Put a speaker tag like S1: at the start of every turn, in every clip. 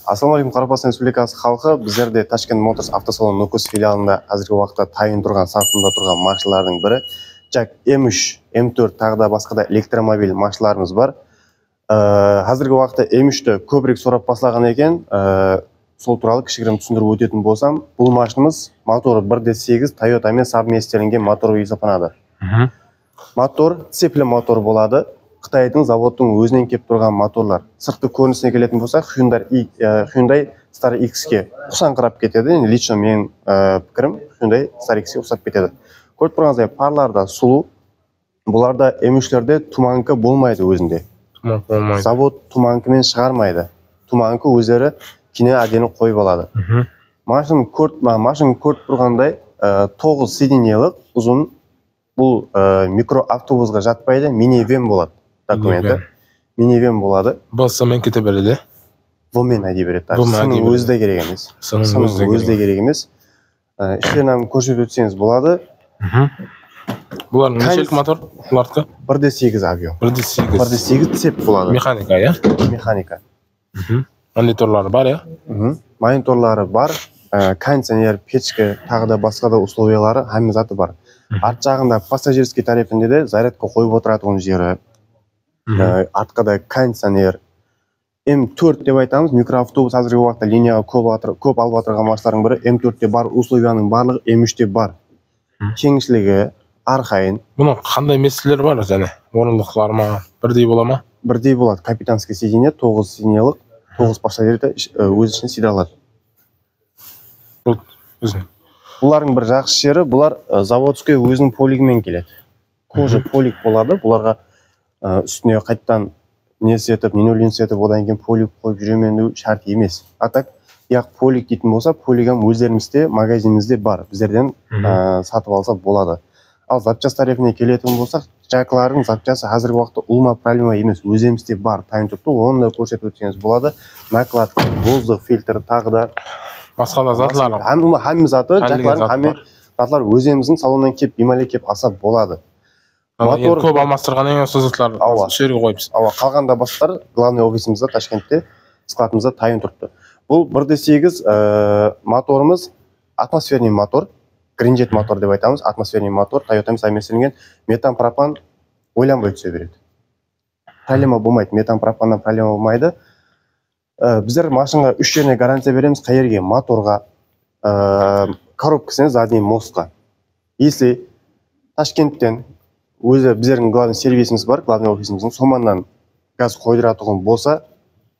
S1: Ассалаумағалейкум, Қарақастан Республикасы халқы. Біздерде Ташкент Моторс автосалон Нукус филиалында қазіргі уақытта тайын тұрған, сатылымда тұрған машиналардың бірі JAC M3, M4 тағы да басқа да электромобиль машиналарымыз бар. Қазіргі уақытта M3-ті көбірек сұрап бастаған екен. Сол туралы кішігірім түсіндіріп өтетін болсам, бұл машинамыз моторы 1.8 Toyota мен совместеленген мотор есептелінеді. Мотор цепілі мотор болады. Қытайдың заводтың өзінен кеп тұрған моторлар. Сыртқы көрінісіне келетін болсақ, Hyundai Star X-ке ұқсаңқырап кетеді. Лично менің пікірім Hyundai Star X-ке ұқсап кетеді. Көріп тұрғандай парларда сұлу, бұларда M3-лерде туманкі болмайды өзінде. Завод туманкімен шығармайды. Туманкі өздері кине әдені қойып алады. Машин көріп тұрғандай 9 сиденьелік ұзын, бұл микроавтобусға жатпайды, минивэн болады. Документі. Минивэн болады.
S2: Бұл сымен кете береді?
S1: Бұмен әдей береді. Сының өзі де керек емес. Сының өзі де керек емес. Іштерін көрсетіп өтсеңіз болады.
S2: Бұлар нешелік мотор?
S1: 1.8 авио.
S2: 1.8
S1: цеп болады.
S2: Механика, я?
S1: Механика.
S2: Мониторлары бар, я?
S1: Мониторлары бар. Кондиционер, печка, тағы да басқа да условиялары хамизаты бар. Арт жағында пассажирский тарифінде де зарядқа қойып отыратын жері. Артқа да кондиционер. M4 деп айтамыз, микроавтобус қазіргі уақытта линияға көп алып отырған машиналардың бірі. M4-те бар, условияның барлығы M3-те бар. Кеңшілігі, арқайын.
S2: Бұның қандай меселер бар және? Орындықтар ма? Бірдей бола ма?
S1: Бірдей болады. Капитанский сиденье, 9 сиденьелік, 9 пассажирді өз ішіне сиде алады. Бұлардың бір жақсы жері, бұлар заводский өзінің полигімен келеді. Кожа полиг болады, бұларға үстіне қайттан несетіп, ненолинсетіп, одан кейін полиг қойып жүремену шарт емес. Атак, яқ полиг дейтін болса, полигам өздерімізде, магазинімізде бар. Біздерден сатып алса болады. Ал запчас тарифіне келетін болсақ, JAC-лардың запчасы қазіргі уақытта ұлма проблема емес, өзімізде бар. Тайын тұтты, оны да көрсетіп өтсеңіз болады. Накладка, воздух фильтр, тағы да
S2: басқа да затлар.
S1: Хамим заты, затлар өзіміздің салоннан кеп, бимале кеп аса болады.
S2: Мотор көп алмастырғаннан кейін сол затлар жерге қойыпсыз.
S1: Қалғанда бастар главный офисімізде Ташкентте складымызда тайын тұртты. Бұл 1.8 моторымыз атмосферный мотор, гринжет мотор деп айтамыз, атмосферный мотор, Toyota совместеленген метан пропан ойланбай түсе береді. Проблема болмайды, метан пропаннан проблема болмайды. Біздер машинға 3 жеріне гарантия береміз, қай жерге моторға, коробкасына, задний мостқа. Если Ташкенттен өзі біздердің главный сервисіміз бар, главный офисіміздің, соманнан газ қойдыратығын болса,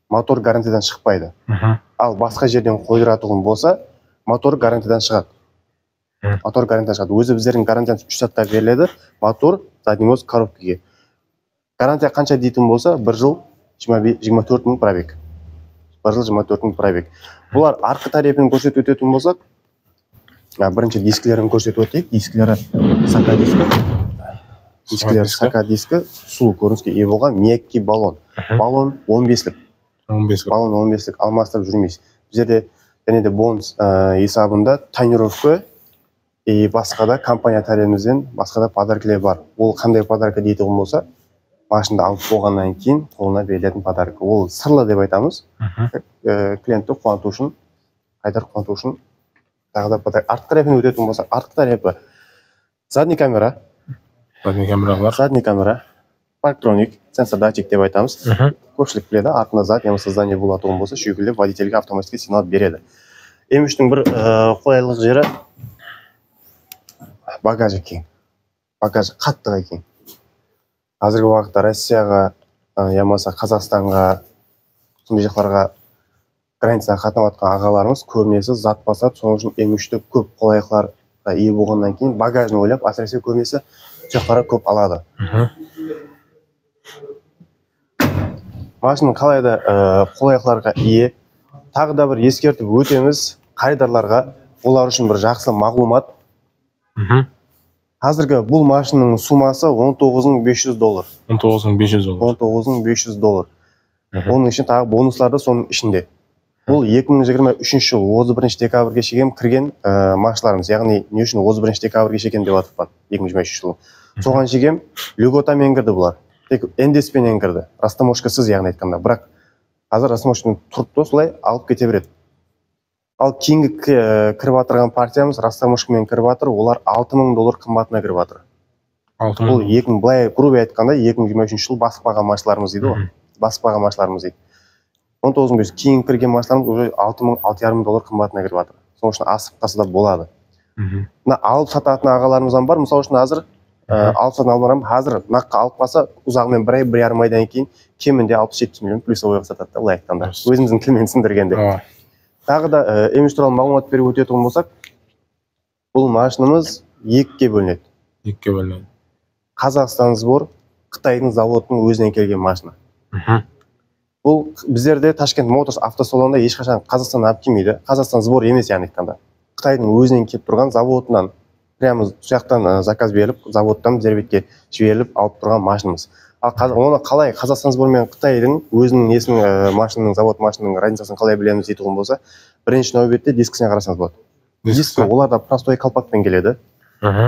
S1: мотор гарантиядан шықпайды. Ал басқа жерден қойдыратығын болса, мотор гарантиядан шығады. Мотор гарантиядан шығады. Өзі біздердің гарантияны 3 сатта беріледі, мотор, задний мост, коробкеге. Гарантия қанша дейтін болса, 1 жыл 24 мың пробег. 1 жыл 24 мың пробег. Бұлар арқы тарифін көрсетіп өтетін болсақ, бірінші дискілерін көрсетіп өтейік. Дискілері сака диски. Дискілері сака диски, сұлу көрініске ие болған мекки баллон. Баллон 15-лік. Баллон 15-лік алмастырып жүрмейсіз. Біздерде және де бонус есабында тонировка и басқа да компания тарифімізден басқа да подаркілер бар. Ол қандай подарка дейтін болса, машинды алып болғаннан кейін қолына берілетін подарка. Ол сырлы деп айтамыз. Клиентті қуанту үшін, қайдар қуанту үшін тағы да подарка. Артқы тарифін өтетін болса, артқы тарифі задний камера. Задний камера, парктроник, сенсор датчик деп айтамыз. Көпшілік біледі, артында зат, немесе здание болатығын болса, шүйгілеп водительге автоматически сигнал береді. M3-тің бір қолайлық жері багажы кең. Багажы қаттыға кең. Қазіргі уақытта Россияға, ямаса Қазақстанға, сондай жақтарға границаға қатынап жатқан ағаларымыз көбінесе зат басады, соның үшін M3-ті көп қолайлықларға ие болғаннан кейін багажын ойлап, әсіресе көбінесе жақтара көп алады. Машина қалайда қолайлықларға ие. Тағы да бір ескертіп өтеміз қайдарларға, олар үшін бір жақсы мағлұмат. Қазіргі бұл машинаның сумасы $19,500. $19,500. Оның үшін тағы бонусларды соның ішінде. Бұл 2023 жыл 31 декабрьге шейін кірген машиналарымыз, яғни не үшін 31 декабрьге шейін деп атып 2023 жылы. Соған шейін льготамен кірді бұлар. Тек эндеспенен кірді. Растаможкасыз, яғни айтқанда. Бірақ қазір рассрочный тұрып та солай алып кете береді. Ал кейінгі кіріп жатырған партиямыз рассрочкамен кіріп жатыр, олар $6000 қымбатына кіріп жатыр. Бұл былай грубо айтқанда 2023 жыл басып қалған машиналарымыз дейді ғой. Басып қалған машиналарымыз дейді. 19 кейін кірген машиналарымыз уже $6000-$6500 қымбатына кіріп жатыр. Соның үшін асып қалса да болады. Мына алып сататын ағаларымыздан бар. Мысалы үшін қазір алып сататын ағаларым қазір наққа алып қалса ұзағымен 1-1,5 айдан кейін кемінде 60-70 миллион плюсовойға сатады да, былай айтқанда. Өзіміздің тілмен түсіндіргенде. Тағы да Эмиш туралы мағлұмат беріп өтетін болсақ, бұл машинамыз екіге бөлінеді.
S2: Екіге бөлінеді.
S1: Қазақстан Сбор, Қытайдың заводының өзінен келген машина. Бұл біздерде Ташкент Моторс автосалонында ешқашан Қазақстаннан алып келмейді. Қазақстан Сбор емес, яғни айтқанда. Қытайдың өзінен келіп тұрған заводынан, прямо сояқтан заказ беріліп, заводтан бізербетке жіберіліп алып тұрған машинамыз. Оны қалай Қазақстан Сбор мен Қытайдың өзінің несінің машинаның, завод машинаның разницасын қалай білеміз дейтін болса, бірінші нәубетте дискісіне қарасаңыз болады. Дискі оларда простой колпакпен келеді.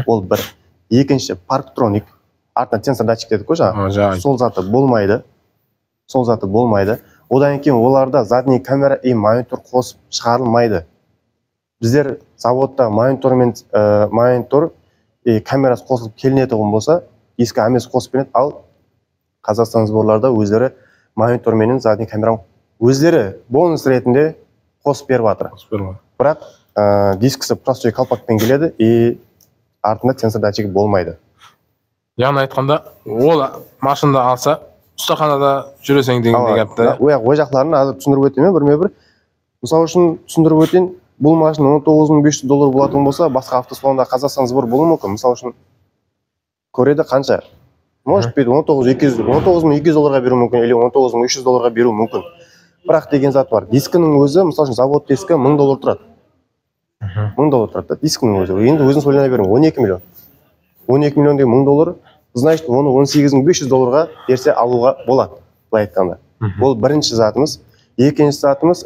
S1: Ол бір. Екінші парктроник, артынан сенсор датчик дедік қой жаңа. Сол заты болмайды. Сол заты болмайды. Одан кейін оларда задний камера и монитор қосып шығарылмайды. Біздер заводта монитор и камерасы қосылып келінетұғын болса, ескі амес қосып келінеді, ал Қазақстан Сборларда өздері монитор менен задний камераны өздері бонус ретінде қосып беріп жатыр. Бірақ дискісі простой колпакпен келеді и артында сенсор датчигі болмайды.
S2: Яғни айтқанда, ол машинада алса, ұстаханада жүресең деген гәпті.
S1: Ой жақларын азыр түсіндіріп өтейін бірме-бір. Мысалы үшін түсіндіріп өтейін, бұл машина $19500 болатын болса, басқа автосалонда Қазақстан Сбор болуы мүмкін. Мысалы үшін көреді қанша? Может быть, $19200 беру мүмкін, или $19300 беру мүмкін. Бірақ деген зат бар. Дискінің өзі, мысалы үшін завод дискі $1000 тұрады. $1000 тұрады, дискінің өзі. Енді өзіңіз ойлана берің, 12 миллион. 12 миллион деген $1000, значит, оны $18500 берсе алуға болады, былай айтқанда. Бұл бірінші затымыз. Екінші затымыз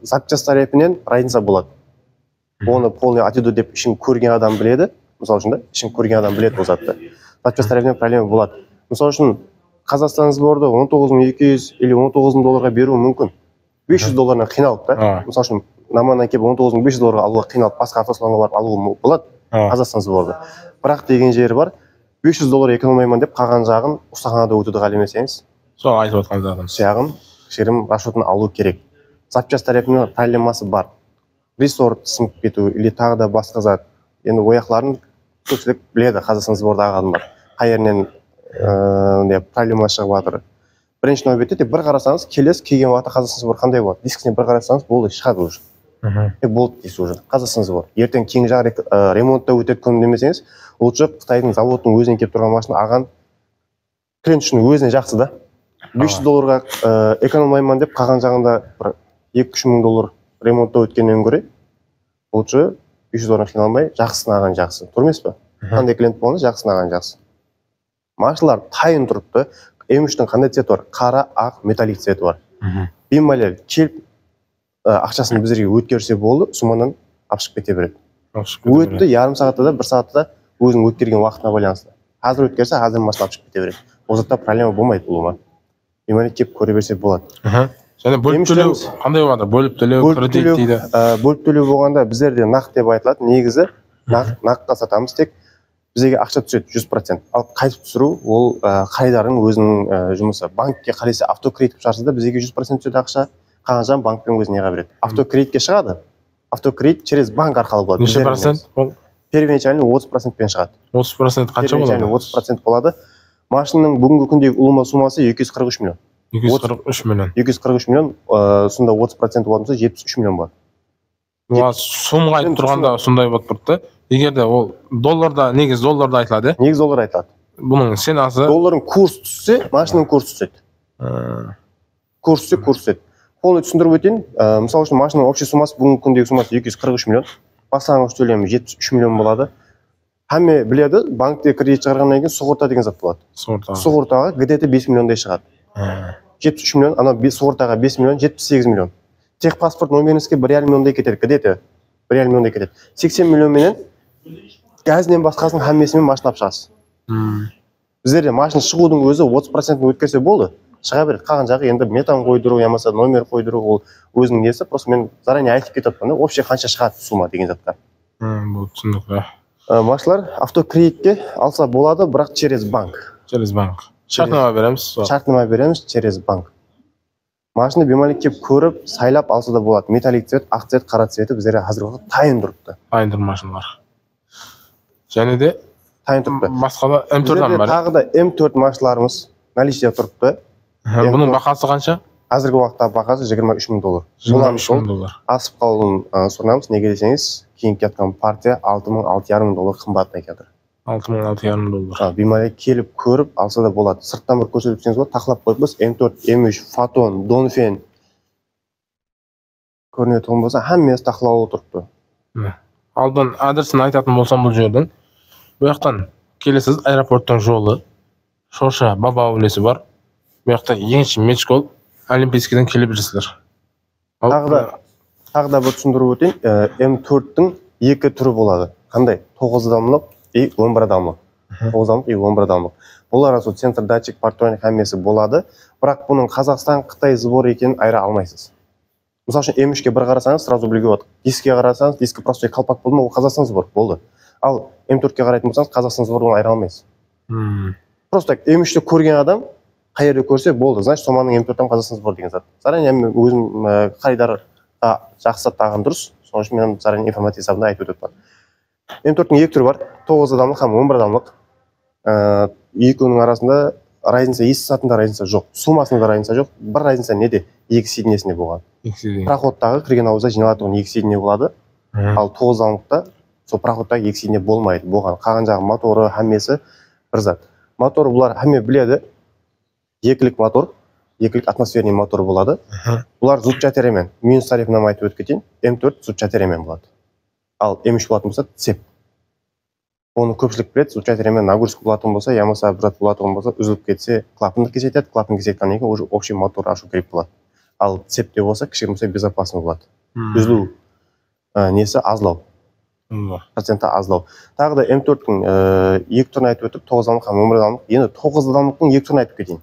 S1: запчасть тарифінен разница болады. Оны полный аттitude деп ішін көрген адам біледі. Мысалы үшін да, ішін көрген адам біледі бұл затты. Запчасть тарифінен проблема болады. Мысалы үшін Қазақстан Сборды $19200 или $19000 беру мүмкін. $500 қиналып та. Мысалы үшін наманнан келіп $19500 алуға қиналып, басқа автосалонға барып алуға болады Қазақстан Сборды. Бірақ деген жері бар, $500 экономайман деп қалған жағын ұстаханада өтуді қалемесеңіз.
S2: Сол айтып отқан жағын.
S1: Жағын, шерім расчетын алу керек. Запчасть тарифінің проблемасы бар. Ресорт сынып кету, или тағы да басқа зат. Енді ояқларын көпшілік біледі, Қазақстан Сборда ағадым бар. Қайерінен проблема шығып жатыр. Бірінші нәубетте бір қарасаңыз, келесі келген уақытта Қазақстан Сбор қандай болады? Дискісіне бір қарасаңыз, болды, шығады уже. Болды дейсіз уже. Қазақстан Сбор. Ертең кейін жағы ремонтта өтеді күн демесеңіз, лучше Қытайдың заводының өзінен келіп тұрған машина аған клиент үшін өзіне жақсы да. $500 экономайман деп қалған жағында $2-3 мың ремонтта өткеннен көре, лучше $500 қиналмай, жақсысын аған жақсы. Тұрмес па? Қандай клиент болғанда жақсысын аған жақсы. Машиналар тайын тұрыпты. Эмиштің қандай цветі бар? Қара, ақ, металлик цветі бар. Беймәлел келіп ақшасын бізерге өткерсе болды, сумадан апшып кете береді. Өтті ярым сағатта да, 1 сағатта да өзінің өткерген уақытына байланысты. Қазір өткерсе, қазір машина апшып кете береді. Ол затта проблема болмайды болуға. Беймәлел келіп көре берсе болады.
S2: Және бөліп төлеу қандай болады? Бөліп төлеу, кредит дейді.
S1: Бөліп төлеу болғанда біздерде нақ деп айтылады. Негізі наққа сатамыз, тек бізге ақша түседі 100%. Ал қайтып түсіру ол қайдардың өзінің жұмысы. Банкке қарайса автокредит шығарса да бізге 100% түседі ақша. Қалған жағын банкпен өзіне береді. Автокредитке шығады. Автокредит через банк арқылы болады.
S2: Неше процент?
S1: Первоначально 30%-пен шығады.
S2: 30% қанша болады?
S1: 30% болады. Машинаның бүгінгі күндегі ұлыма сумасы 243 миллион.
S2: 243 миллион.
S1: 243 миллион, сонда 30% болатын болса 73 миллион болады.
S2: Сумға айтып тұрғанда сондай болып тұрды. Егерде ол долларда, негіз долларда айтылады.
S1: Негіз доллар айтылады.
S2: Бұның сенасы
S1: доллардың курс түссе, машинаның курс түседі. Курс түседі. Қолы түсіндіріп өтейін. Мысалы үшін машинаның общий сумасы бүгінгі күндегі сумасы 243 миллион. Басаңыз төлемі 73 миллион болады. Әме біледі, банкте кредит шығарғаннан кейін сығырта деген зат болады. Сығыртаға где-то 5 миллиондай шығады. 73 миллион, ана сығыртаға 5 миллион, 78 миллион. Техпаспорт номеріңізге 1,5 миллиондай кетеді, где-то 1,5 миллиондай кетеді. 80 миллион менен газінен басқасының әммесімен машина шығасыз. Біздерде машина шығудың өзі 30% өткерсе болды. шыға береді. Қалған жағы енді метан қойдыру, ямаса номер қойдыру, ол өзінің несі. Просто мен заранее айтып кетіппін да, вообще қанша шығады сумма деген затқа.
S2: Бұл түсіндік.
S1: Машалар автокредитке алса болады, бірақ через банк.
S2: Через банк. Шартнама береміз.
S1: Шартнама береміз через банк. Машина бемалек кеп көріп, сайлап алса да болады. Металлик цвет, ақ цвет, қара цветі біздерге қазіргі уақытта тайын тұрыпты.
S2: Тайын тұр машиналар. Және де
S1: тайын тұрыпты.
S2: Басқа да М4-дан бар.
S1: Тағы да М4 машиналарымыз наличие тұрыпты.
S2: Бұның бағасы қанша?
S1: Қазіргі уақытта бағасы $23,000.
S2: 23,000.
S1: Асып қалуын сұранамыз. Неге десеңіз, кейін кеткен партия $6,000-6,500 қымбаттай кетір.
S2: $6,000-6,500.
S1: Бемалек келіп көріп алса да болады. Сырттан бір көрсетіп өтсеңіз болады, тақылап қойып біз М4, М3, Фотон, Донфен көрінетін болса, әммесі тақылауы тұрыпты.
S2: Алдын адресін айтатын болсам бұл жердің. Бұл жақтан келесіз аэропорттың жолы, Шоша Баба аулесі бар. Бұл жақта еңші Мечкол, Олимпийскіден келе бересіздер.
S1: Тағы да бір түсіндіріп өтейін, М4-тің екі түрі болады. Қандай? 9 адамлық и 11 адамлық. 9 адамлық и 11 адамлық. Бұл арасы центр датчик партроник әммесі болады, бірақ бұның Қазақстан, Қытай сбор екенін айыра алмайсыз. Мысалы үшін М3-ке бір қарасаңыз, сразу білуге болады. Дискке қарасаңыз, дискі просто қалпақ болды ма, ол Қазақстан сбор болды. Ал М4-ке қарайтын болсаңыз, Қазақстан сборын айыра алмайсыз. Просто М3-те көрген адам қай жерде көрсе болды, значит, соманың М4-тен Қазақстан сбор деген зат. Заранее өзім қайдарға жақсы тағын дұрыс, соның үшін мен заранее информация есабында айтып өтіп. М4-тің екі түрі бар, 9 адамлық һәм 11 адамлық. Екеуінің арасында разница, есі сатында разница жоқ, сумасында разница жоқ. Бір разница неде? Екі сиднесінде болған. Проходтағы кірген ауызда жиналатығын екі сидне болады, ал 9 адамлықта сол проходтағы екі сидне болмайды болған. Қалған жағы моторы, әммесі бір зат. Моторы бұлар әмме біледі, екілік мотор, екілік атмосферный мотор болады. Бұлар зутчатеремен, минус тарифынан айтып өтіп кетейін, М4 зутчатеремен болады. Ал М3 болатын болса, цеп. Оны көпшілік біледі, зутчатеремен нагрузка болатын болса, ямаса бір зат болатын болса, үзіліп кетсе, клапанды кесетеді, клапан кесеткеннен кейін уже общий мотор ашу керек болады. Ал цепте болса, кішкене болса безопасно болады. Үзілу несі азлау. Проценті азлау. Тағы да М4-тің екі түрін айтып өтіп, 9 адамлық һәм 11 адамлық. Енді 9 адамлықтың екі түрін айтып кетейін.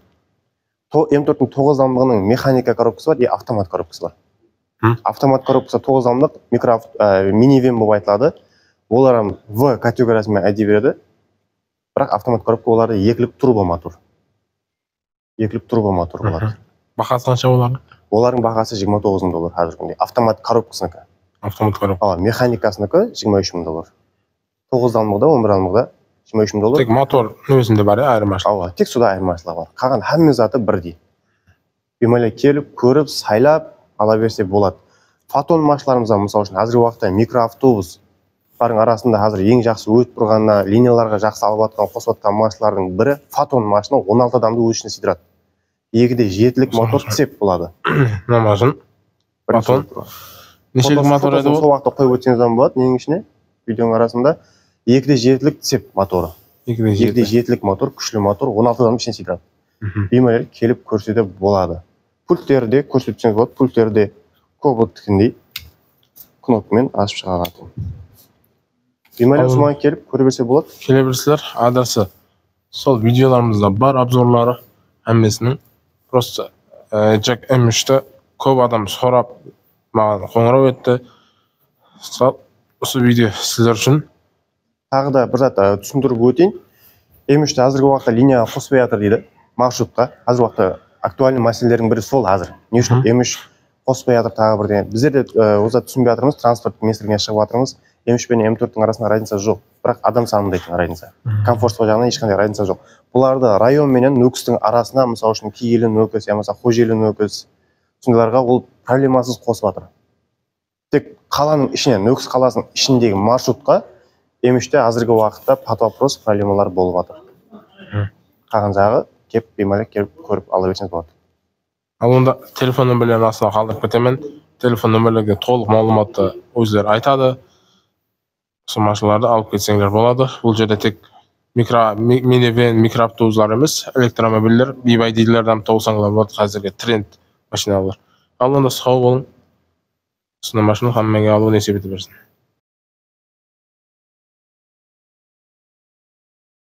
S1: М4-тің 9 адамлығының механика коробкасы бар и автомат коробкасы бар. Автомат коробкасы 9 адамлық минивэн болып айтылады. Олар В категориясымен әдей береді. Бірақ автомат коробка оларды екілік турбо мотор. Екілік турбо мотор болады.
S2: Бағасы қанша олардың?
S1: Олардың бағасы $29,000 қазіргі күнде. Автомат коробкасынікі.
S2: Автомат коробка.
S1: Механикасынікі $23,000. 9 адамлықта, 11 адамлықта $23,000.
S2: Тек мотор өзінде бар, айырмашылық.
S1: Тек суда айырмашылығы бар. Қалған әмме заты бірдей. Бемалек келіп, көріп, сайлап ала берсе болады. Фотон машиналарымызда, мысалы үшін, қазіргі уақытта микроавтобус бардың арасында қазір ең жақсы өтіп тұрғанына, линияларға жақсы алып атқан, қосып атқан машиналардың бірі Фотон машина 16 адамды өз ішіне сыйдырады. Екіде жетілік мотор цеп болады.
S2: Намазын. Фотон. Нешелік мотор еді ол?
S1: Сол уақытта қойып өтсеңізден болады, ненің ішіне, видеоның арасында. Екіде жетілік цеп моторы. Екіде жетілік мотор, күшлі мотор 16 адамды ішіне сыйдырады. Беймәлер келіп көрсете болады. Пульттерде көрсетсеңіз болады, пульттерде көбіткіндей кнопкамен ашып шығаратын. Беймәлер сұман келіп көре берсе болады.
S2: Келе берсілер, адресі сол видеоларымызда бар, обзорлары әммесінің. Просто Jack M3-ті көп адам сұрап маған қоңырау етті. Осы видео сіздер үшін.
S1: Тағы да бір зат түсіндіріп өтейін. M3-ті қазіргі уақытта линияға қоспай жатыр дейді. Маршрутқа. Қазіргі уақытта актуальный мәселелердің бірі сол қазір. Не үшін M3 қоспай жатыр тағы бір деген. Біздер де осы түсінбей жатырмыз, транспорт министрлігіне шығып жатырмыз. M3 пен M4-тің арасында разница жоқ. Бірақ адам санында екен разница. Комфорттық жағынан ешқандай разница жоқ. Бұларды район менен нөкістің арасына, мысалы үшін Киелі нөкіс, ямаса Қожелі нөкіс, сондайларға ол проблемасыз қосып жатыр. Тек қаланың ішіне, нөкіс қаласының ішіндегі маршрутқа M3-те қазіргі уақытта под вопрос проблемалар болып жатыр. Қалған жағы кеп беймәлек келіп көріп ала берсеңіз болады.
S2: Ал онда телефон нөмірлерін астына қалдырып кетемін. Телефон нөмірлерге толық малуматты өздері айтады. Сол машиналарды алып кетсеңдер болады. Бұл жерде тек минивэн, микроавтобустар емес, электромобильдер, BYD-лерден тауысаңыздар болады, қазіргі тренд машиналар. Ал онда сау болың. Осындай машина хаммаға алу несеп ете берсін.